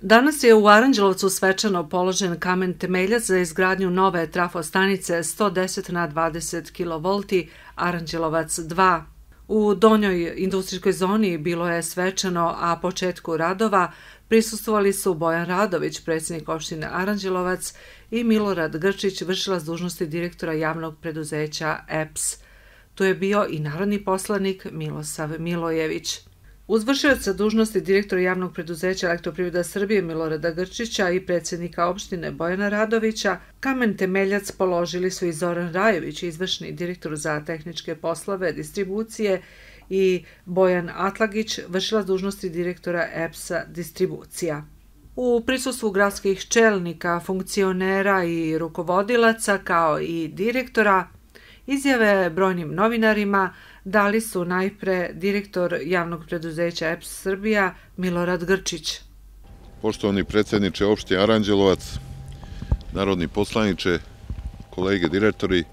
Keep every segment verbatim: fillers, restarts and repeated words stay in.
Danas je u Aranđelovcu svečano položen kamen temeljac za izgradnju nove trafostanice sto deset na dvadeset kilovolti Aranđelovac dva. U donjoj industrijskoj zoni bilo je svečano, a početku radova prisustvovali su Bojan Radović, predsjednik opštine Aranđelovac, i Milorad Grčić, vršilac dužnosti direktora javnog preduzeća E P S. Tu je bio i narodni poslanik Milosav Milojević. Uz vršioca dužnosti direktora javnog preduzeća Elektroprivreda Srbije Milorada Grčića i predsjednika opštine Bojana Radovića, kamen temeljac položili su i Zoran Rajović, izvršni direktor za tehničke poslove distribucije, i Bojan Atlagić, vršilac dužnosti direktora E P S-a distribucija. U prisustvu gradskih čelnika, funkcionera i rukovodilaca, kao i direktora, izjave brojnim novinarima dali su najpre direktor javnog preduzeća E P S Srbija Milorad Grčić. Poštovani predsjedniče opštine Aranđelovac, narodni poslaniče, kolege direktori,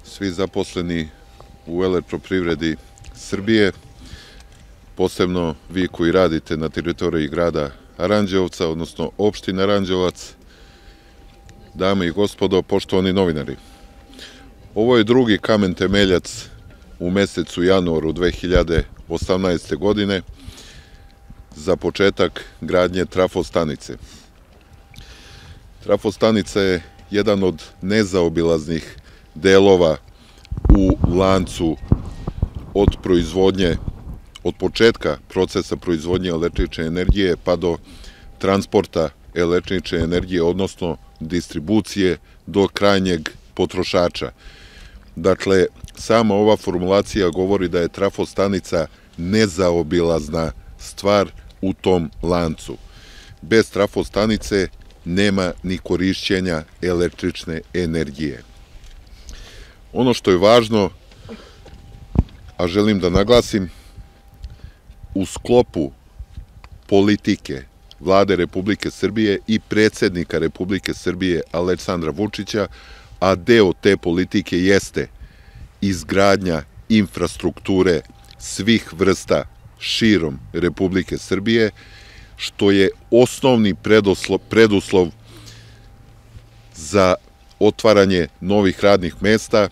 svi zaposleni u Elektroprivredi Srbije, posebno vi koji radite na teritoriji grada Aranđelovca, odnosno opštine Aranđelovac, dame i gospodo, poštovani novinari. Ovo je drugi kamen temeljac u mesecu januaru dve hiljade osamnaeste. godine za početak gradnje trafostanice. Trafostanica je jedan od nezaobilaznih delova u lancu od proizvodnje, od početka procesa proizvodnje električne energije pa do transporta električne energije, odnosno distribucije do krajnjeg potrošača. Dakle, sama ova formulacija govori da je trafostanica nezaobilazna stvar u tom lancu. Bez trafostanice nema ni korišćenja električne energije. Ono što je važno, a želim da naglasim, u sklopu politike Vlade Republike Srbije i predsjednika Republike Srbije Aleksandra Vučića, a deo te politike jeste izgradnja infrastrukture svih vrsta širom Republike Srbije, što je osnovni preduslov za otvaranje novih radnih mesta,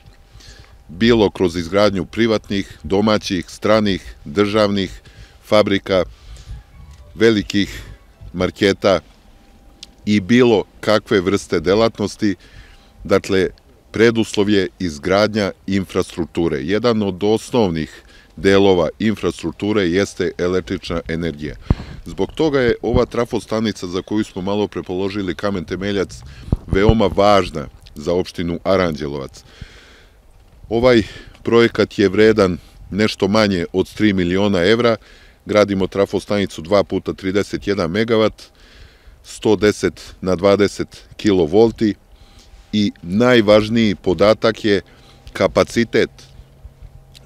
bilo kroz izgradnju privatnih, domaćih, stranih, državnih fabrika, velikih marketa i bilo kakve vrste delatnosti. Dakle, preduslov je izgradnja infrastrukture. Jedan od osnovnih delova infrastrukture jeste električna energija. Zbog toga je ova trafostanica za koju smo malo pre položili kamen temeljac veoma važna za opštinu Aranđelovac. Ovaj projekat je vredan nešto manje od tri miliona evra. Gradimo trafostanicu dva puta trideset jedan megavat, sto deset na dvadeset kilovolti, i najvažniji podatak je kapacitet,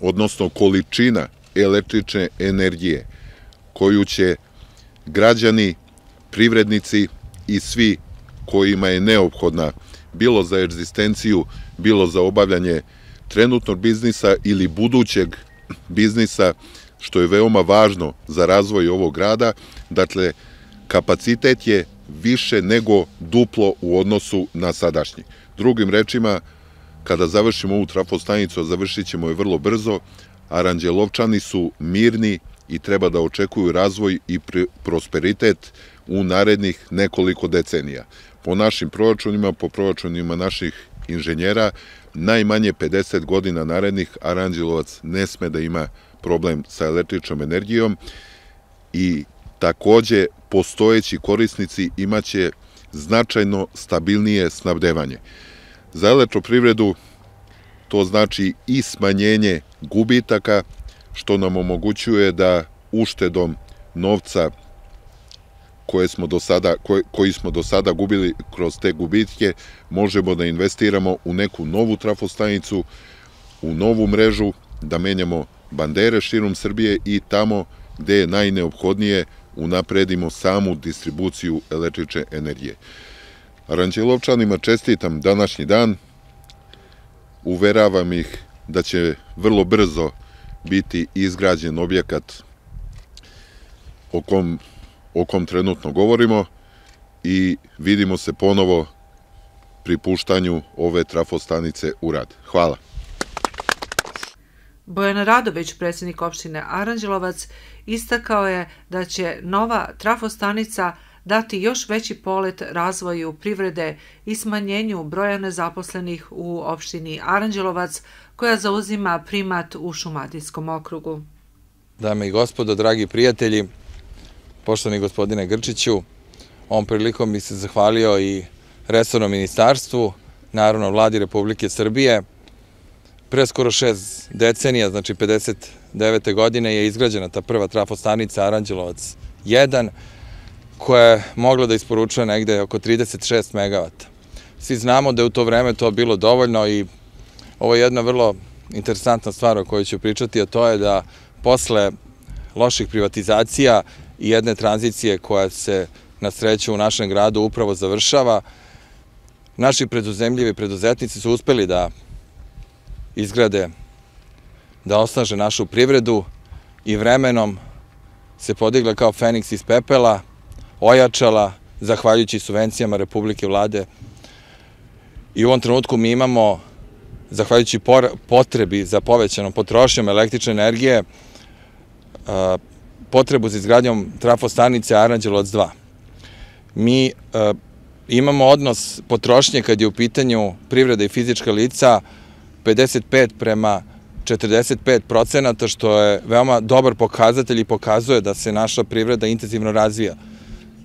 odnosno količina električne energije koju će građani, privrednici i svi kojima je neophodna, bilo za egzistenciju, bilo za obavljanje trenutnog biznisa ili budućeg biznisa, što je veoma važno za razvoj ovog grada. Dakle, kapacitet je više nego duplo u odnosu na sadašnji. Drugim rečima, kada završimo ovu trafostanicu, a završit ćemo je vrlo brzo, Aranđelovčani su mirni i treba da očekuju razvoj i prosperitet u narednih nekoliko decenija. Po našim proračunima, po proračunima naših inženjera, najmanje pedeset godina narednih Aranđelovac ne sme da ima problem sa električnom energijom i takođe postojeći korisnici imaće značajno stabilnije snabdevanje. Za elektroprivredu to znači i smanjenje gubitaka, što nam omogućuje da uštedom novca koje smo do sada, koji smo do sada gubili kroz te gubitke, možemo da investiramo u neku novu trafostanicu, u novu mrežu, da menjamo bandere širom Srbije i tamo gde je najneophodnije unapredimo samu distribuciju električne energije. Aranđelovčanima čestitam današnji dan, uveravam ih da će vrlo brzo biti izgrađen objekat o kom o kom trenutno govorimo i vidimo se ponovo pri puštanju ove trafostanice u rad. Hvala. Bojan Radović, predsjednik opštine Aranđelovac, istakao je da će nova trafostanica dati još veći polet razvoju privrede i smanjenju broja nezaposlenih u opštini Aranđelovac, koja zauzima primat u Šumadijskom okrugu. Dame i gospodo, dragi prijatelji, poštovani gospodine Grčiću, ovom prilikom bih se zahvalio i resornom ministarstvu, naravno Vladi Republike Srbije. Pre skoro šest decenija, znači pedeset devete godine, je izgrađena ta prva trafostanica Aranđelovac jedan, koja je mogla da isporučuje negde oko trideset šest megavata. Svi znamo da je u to vreme to bilo dovoljno i ovo je jedna vrlo interesantna stvar o kojoj ću pričati, a to je da posle loših privatizacija i jedne tranzicije koja se na sreću u našem gradu upravo završava, naši preduzemljivi preduzetnici su uspeli da izgrade, da osnaže našu privredu i vremenom se podigla kao Feniks iz pepela, ojačala, zahvaljujući subvencijama Republike Vlade. I u ovom trenutku mi imamo, zahvaljujući potrebi za povećanom potrošnjom električne energije, potrebu za izgradnjom trafostanice Aranđelovac dva. Mi imamo odnos potrošnje kad je u pitanju privreda i fizička lica pedeset pet prema četrdeset pet procenata, što je veoma dobar pokazatelj i pokazuje da se naša privreda intenzivno razvija.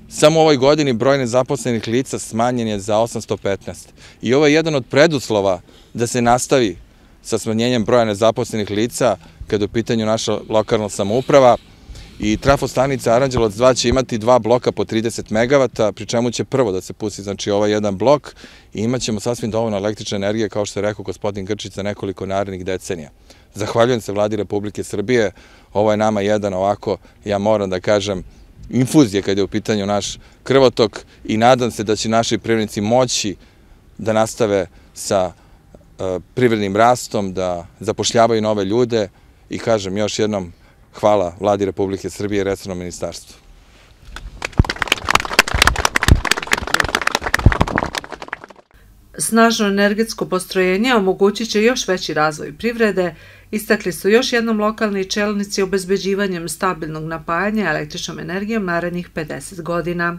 Samo u ovoj godini broj nezaposlenih lica smanjen je za osamsto petnaest. I ovo je jedan od preduslova da se nastavi sa smanjenjem broja nezaposlenih lica kada je u pitanju naša lokalna samouprava. I trafostanica Aranđelovac dva će imati dva bloka po trideset megavata, pri čemu će prvo da se pusti, znači ovaj jedan blok, i imat ćemo sasvim dovoljno električne energije, kao što je rekao gospodin Grčić, za nekoliko narednih decenija. Zahvaljujem se Vladi Republike Srbije, ovo je nama jedan ovako, ja moram da kažem, infuzije kada je u pitanju naš krvotok i nadam se da će naši privrednici moći da nastave sa privrednim rastom, da zapošljavaju nove ljude i kažem još jednom hvala Vladi Republike Srbije i resornom ministarstvu. Snažno energetsko postrojenje omogućit će još veći razvoj privrede, istakli su još jednom lokalni čelnici obezbeđivanjem stabilnog napajanja električnom energijom narednih pedeset godina.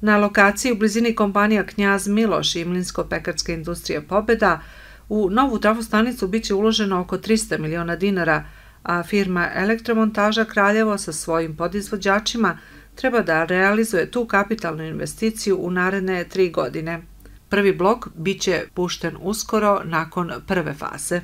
Na lokaciji u blizini kompanija Knjaz Miloš i Mlinsko-pekarska industrija Pobeda u novu trafostanicu biće uloženo oko trista miliona dinara, a firma Elektromontaža Kraljevo sa svojim podizvođačima treba da realizuje tu kapitalnu investiciju u naredne tri godine. Prvi blok biće pušten uskoro nakon prve faze.